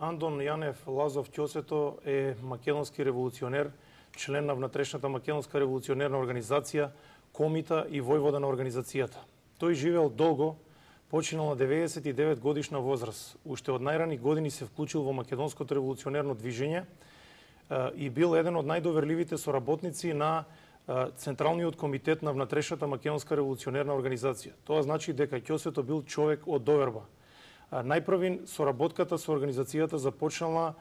Андон Јанев Лазов Ќосето е македонски револуционер, член на внатрешната македонска револуционерна организација, комита и војвода на организацијата. Тој живеел долго, починал на 99 годишна возраст. Уште од најрани години се вклучил во македонското револуционерно движење и бил еден од најдоверливите соработници на Централниот комитет на внатрешната македонска револуционерна организација. Тоа значи дека Ќосето бил човек од доверба. Најпрвин соработката со организацијата започнала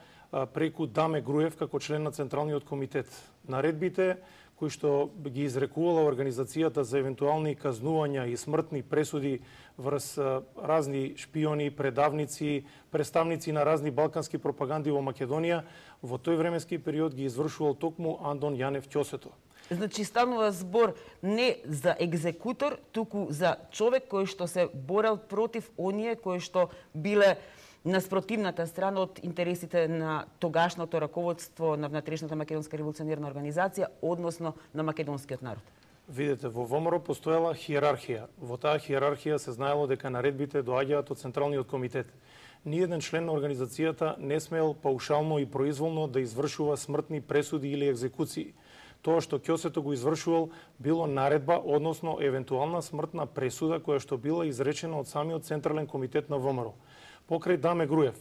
преку Даме Груев како член на Централниот комитет. Наредбите кои што ги изрекувала организацијата за евентуални казнувања и смртни пресуди врз разни шпиони, предавници, представници на разни балкански пропаганди во Македонија, во тој временски период ги извршувал токму Андон Јанев Ќосето. Значи станува збор не за екзекутор, туку за човек кој што се борел против оние кои што биле на спротивната страна од интересите на тогашното раководство на внатрешната македонска револуционерна организација, односно на македонскиот народ. Видете, во ВМРО постоела хиерархија. Во таа хиерархија се знаело дека наредбите доаѓаат од Централниот комитет. Ниеден член на организацијата не смел паушално и произволно да извршува смртни пресуди или екзекуции. Тоа што Ќосето го извршувал било наредба, односно евентуална смртна пресуда која што била изречена од самиот Централен комитет на ВМРО. Покрај Даме Груев,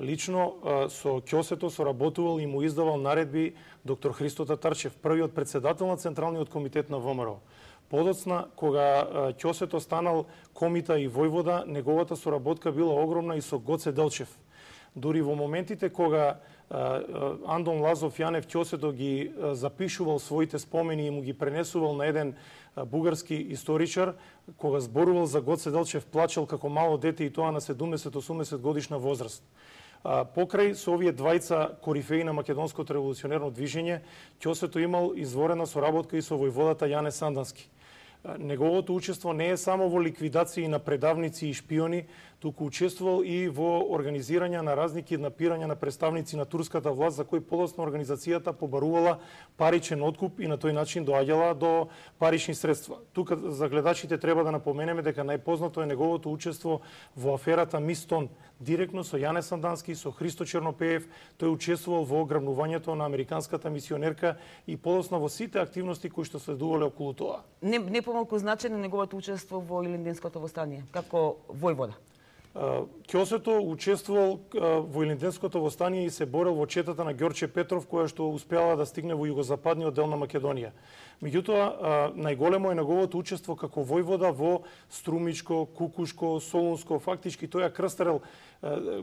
лично со Ќосето соработувал и му издавал наредби доктор Христо Татарчев, првиот председател на Централниот комитет на ВМРО. Подоцна, кога Ќосето станал комита и војвода, неговата соработка била огромна и со Гоце Делчев. Дури во моментите кога Андон Лазов Јанев Ќосето ги запишувал своите спомени и му ги пренесувал на еден бугарски историчар, кога зборувал за Гоце Делчев, плачел како мало дете и тоа на 70-80 годишна возраст. Покрај со овие двајца корифеи на македонското револуционерно движење, Ќосето имал изворена соработка и со војводата Јане Сандански. Неговото учество не е само во ликвидации на предавници и шпиони, туку учествувал и во организирање на разни киднапирања на представници на турската власт, за кои подоцна организацијата побарувала паричен откуп и на тој начин доаѓала до парични средства. Тука за гледачите треба да напоменеме дека најпознато е неговото учество во аферата Мистон, директно со Јане Сандански, со Христо Чернопеев. Тој учествувал во ограбнувањето на американската мисионерка и подоцна во сите активности кои што следувале околу тоа. Не помалку значено неговото учество во Илинденското востание, како војвода. Ќосето учествувал во Илинденското востание и се борел во четата на Ѓорче Петров, која што успеала да стигне во југозападниот дел на Македонија. Меѓутоа, најголемо е неговото учество како војвода во Струмичко, Кукушко, Солунско. Фактички тој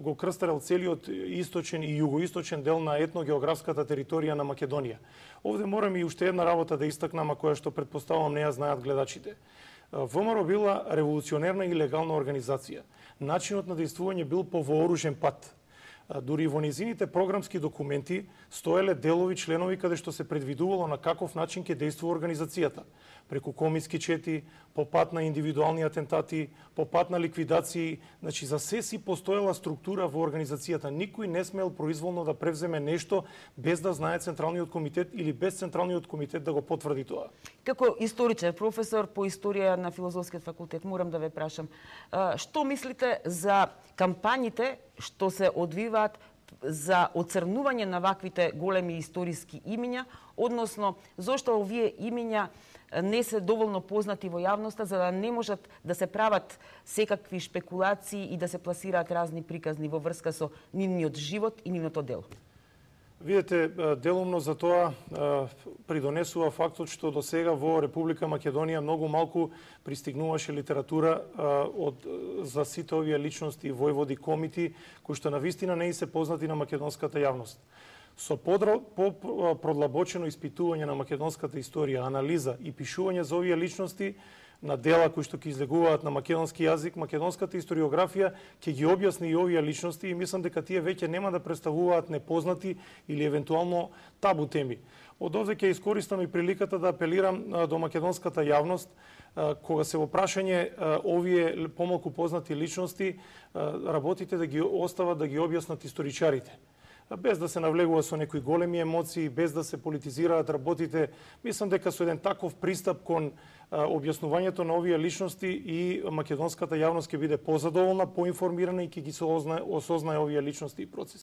го крстарел целиот источен и југоисточен дел на етногеографската територија на Македонија. Овде морам и уште една работа да истакнам, а која што предпоставувам не ја знаат гледачите. ВМРО била револуционерна и легална организација. Начинот на действување бил по вооружен пат. Дури во низините програмски документи стоеле делови членови каде што се предвидувало на каков начин ќе действува организацијата. Преку комиски чети, по пат на индивидуални атентати, по пат на ликвидации, значи за се си постоела структура во организацијата. Никој не смел произволно да превземе нешто без да знае Централниот комитет или без Централниот комитет да го потврди тоа. Како историчар, професор по историја на Филозофскиот факултет, морам да ве прашам, што мислите за кампањите што се одвиваат за оцрнување на ваквите големи историски имиња, односно зошто овие имиња не се доволно познати во јавноста, за да не можат да се прават секакви шпекулации и да се пласираат разни приказни во врска со нивниот живот и нивното дело? Видете, делумно за тоа придонесува фактот што до сега во Република Македонија многу малку пристигнуваше литература за сите овие личности, војводи, комити, кои што навистина не и се познати на македонската јавност. Со продлабочено испитување на македонската историја, анализа и пишување за овие личности на дела кои што ќе излегуваат на македонски јазик, македонската историографија ќе ги објасни и овие личности и мислам дека тие веќе нема да представуваат непознати или евентуално табу теми. Од овде ќе искористам и приликата да апелирам до македонската јавност, кога се во прашање овие помалку познати личности, работите да ги остават да ги објаснат историчарите. Без да се навлегува со некои големи емоции, без да се политизираат работите, мислам дека со еден таков пристап кон објаснувањето на овие личности и македонската јавност ќе биде позадоволна, поинформирана и ќе ги осознае овие личности и процеси.